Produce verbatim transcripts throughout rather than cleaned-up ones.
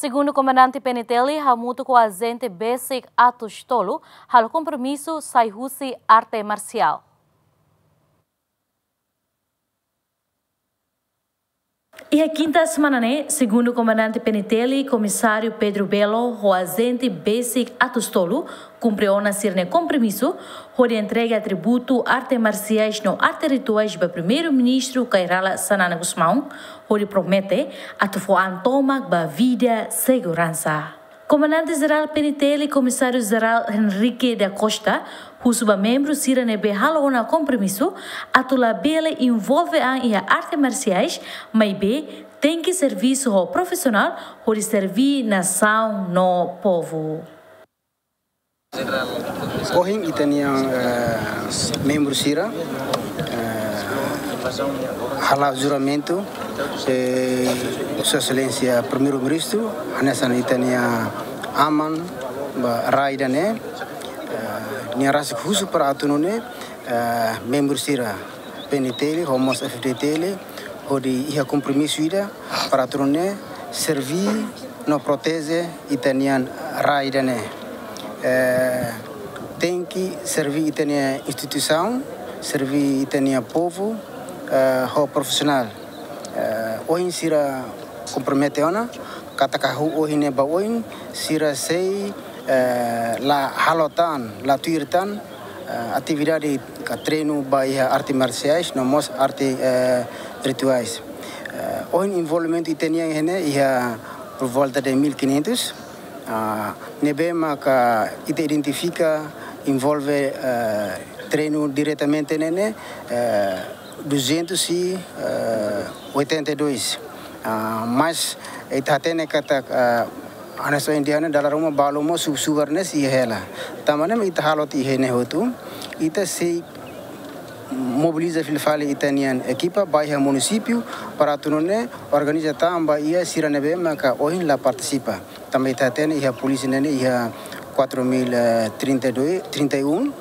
Segundu Komandante P N T L hamutuk ho ajente besik atus tolu halo kompromisu sai husi arte marsiál. Iha kinta semana ne'e, Segundu Komandante P N T L, Komisáriu Pedro Belo, ho ajente besik atus tolu, kumpre ona sira-nia kompromisu, hodi entrega atributu arte marsiais no arte rituais ba Primeiru-Ministru Kay Rala Xanana Gusmão, hodi promete atu fó an tomak ba vida seguransa. Komandante Jerál P N T L, Komisáriu Jerál Henrique da Costa, husu ba membru sira ne'ebé halo ona kompromisu atu labele envolve an iha arte marsiais, maibé tenke servisu ho profisionál hodi serví nasaun no povu. Ohin ita-nia, eh, membru sira, eh, hala'o juramentu, eh, Sua Exelénsia Primeiru-Ministru, hanesan ita-nia aman ba rai ida-ne'e, eh, nia rasik husu para atu nune'e, eh, membru sira P N T L, ho mós F D T L, hodi iha kompromisu ida para atu nune'e serví no proteje ita-nia rai ida-ne'e. Eh, tenke serví ita-nia instituisaun, serví ita-nia povu, eh, ho profisionál. Eh, ohin sira kompromete ona, katak hahú ohin ne'e ba oin, sira sei, eh, la halo tan, la tuir tan, eh, atividade ka treinu ba iha arte marsiais, no mós arte, eh, rituais. Eh, ohin envolvimentu ita-nian iha ne'e iha por volta de mil e quinhentos, ah, ne'ebé maka ita identifika envolve, eh, treinu diretamente ne'e ne'e, eh, duzentos e oitenta e dois. Ah, mas ita hatene katak, ah, hanesan ohin dehan ne'e dala ruma balu mós sub-subar ne'e sei hela. Tanba ne'e ita halo tiha ne'e hotu, ita sei mobiliza fila fali ita-nian ekipa ba iha munisípiu para atu nune'e organiza tan ba iha sira ne'ebé maka ohin la partisipa. Tanba ita hatene iha polísia ne'e ne'e iha quatro mil, eh, trinta e dois, trinta e um.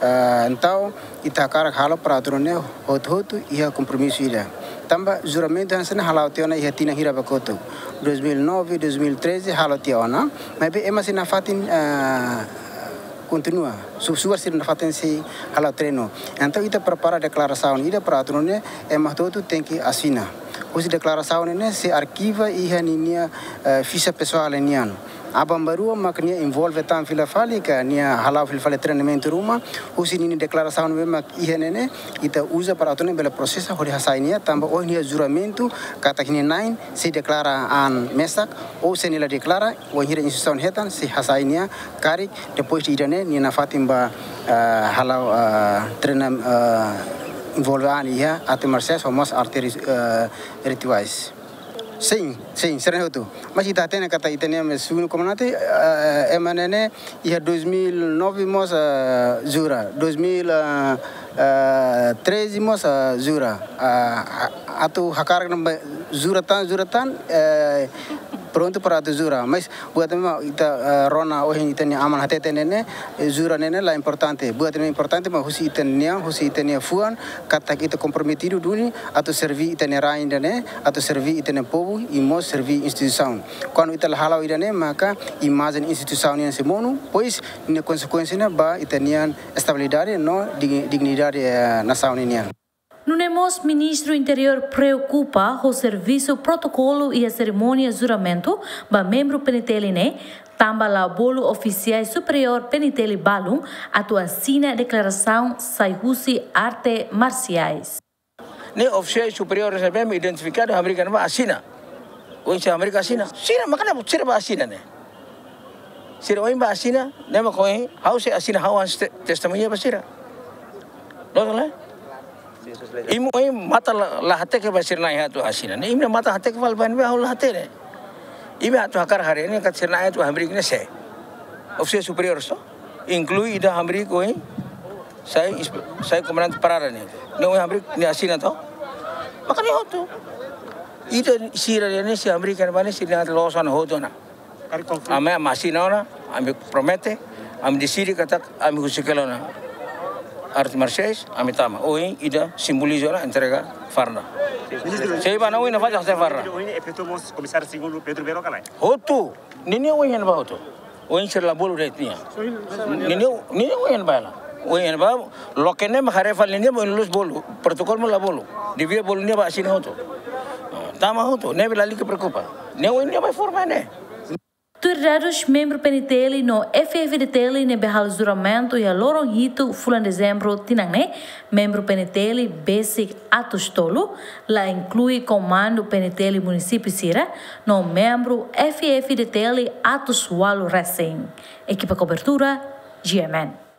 Eh, entaun, ita hakarak halo para atu nune'e hotu-hotu iha kompromisu ida. Tanba juramentu hanesan ne'e hala'o tiha ona iha tinan hira ba kotuk. Dois mil e nove, dois mil e treze hala'o tiha ona. Maibé ema sei nafatin, eh, kontinua. Sub-subar sira nafatin sei hala'o treinu. Entaun ita prepara deklarasaun ida para atu nune'e ema hotu-hotu tenke asina. Husi deklarasaun ne'e ne'e sei arkiva iha ninia, eh, fixa pesoál nian. Aban-bainrua mak nia envolve tan fila fali ka nia hala'o fila fali treinamentu ruma, husi ninia deklarasaun ne'ebé mak iha ne'e ne'e, ita uza para atu nune'e bele prosesa hodi hasai nia, tanba ohin nia juramentu katak nia na'in sei deklara an mesak, ou se nia la deklara, wainhira instituisaun hetan sei hasai nia karik, depois de ida-ne'e nia nafatin ba, ah, hala'o, ah, treina, ah, envolve an iha arte marsiais ho mós arte ri-, ah, rituais. Sin, sin, sira hotu. Mas ita hatene katak ita-nia Segundu Komandante, ah, ema ne'e ne'e iha dois mil e nove mós, ah, jura, dois mil e treze mós, ah, jura. Ah, atu hakarak ne'ebé jura tan, jura tan, eh, prontu para atu jura. Mas buat ne'ebé ita, eh, rona ohin ita-nia aman hatete ne'e ne'e, eh, jura ne'e ne'e la importante. Buat ne'ebé importante mak husi ita-nia, husi ita-nia fuan, katak ita komprometidu duni atu serví ita-nia rai ida-ne'e, atu serví ita-nia povu, i mós serví instituisaun. Kuandu ita la hala'o ida-ne'e, maka imajen instituisaun nian sei monu, pois, nia konsekuénsia ne'e ba ita-nia estabilidade no dig-, dignidade, eh, nasaun nian. Nune'e mós Ministru Interiór preokupa ho servisu protokolu iha serimónia juramentu ba membru P N T L ne'e, tanba la bolu ofisiais superiór P N T L balun atu asina deklarasaun sai husi arte marsiais. Ne'e ofisiál superiór ne'ebé identifikadu, hamriik ne'ebá asina. Oinsá hamriik asina? Sira, makanya sira bá asina ne'e. Sira ohin bá asina, ne'e mak ohin, ha'u sei asina ha'u-nia te-, testemuña ba sira. Loos ka lae? Imi ohin matan la, la hateke ba sira na'in atu asina. Ne'e imi matan hateke fali ba ne'ebé ha'u la hatene. Imi atu hakarak haree ne'e katak sira na'in atu hamriik ne'e sé? Ofisiál superiór só. Inklui ida hamriik ohin, sai inspe-, sai komandante parada ne'e. Ne'e ohin hamriik nia asina to. Makanya hotu. Ida sira ne'e sei hamriik ne'ebá ne'e sira atu loos ona hotu ona. Ami, ami asina ona, ami promete, ami deside katak ami husik hela ona. Artes marsiais, ami tama. Ohin ida simboliza ona entrega farda. Sei ba na ohin na faja se farda. Ohin efetu mós Komisáriu Segundu Pedro Bero ka lae? Hotu. Ninia ohin ba hotu. Ohin sira la bolu de'it nia. Ninia, ninia ohin ba la. Ohin ba, loke ne'e mak haree fali nia, ohin lus bolu. Protokolu mak la bolu. Devia bolu nia ba asina hotu. Tama hotu, ne'ebé lalika preokupa. Nia ohin nia ba forma ne'e. Tuir dadus, membru P N T L no F F D T L ne'ebé halo juramentu iha loron hitu fulan Dezembru tinan ne'e, membru P N T L besik atus tolu, la inklui komandu P N T L munisípiu sira, no membru F F D T L atus ualu resin. Ekipa kobertura, G M N.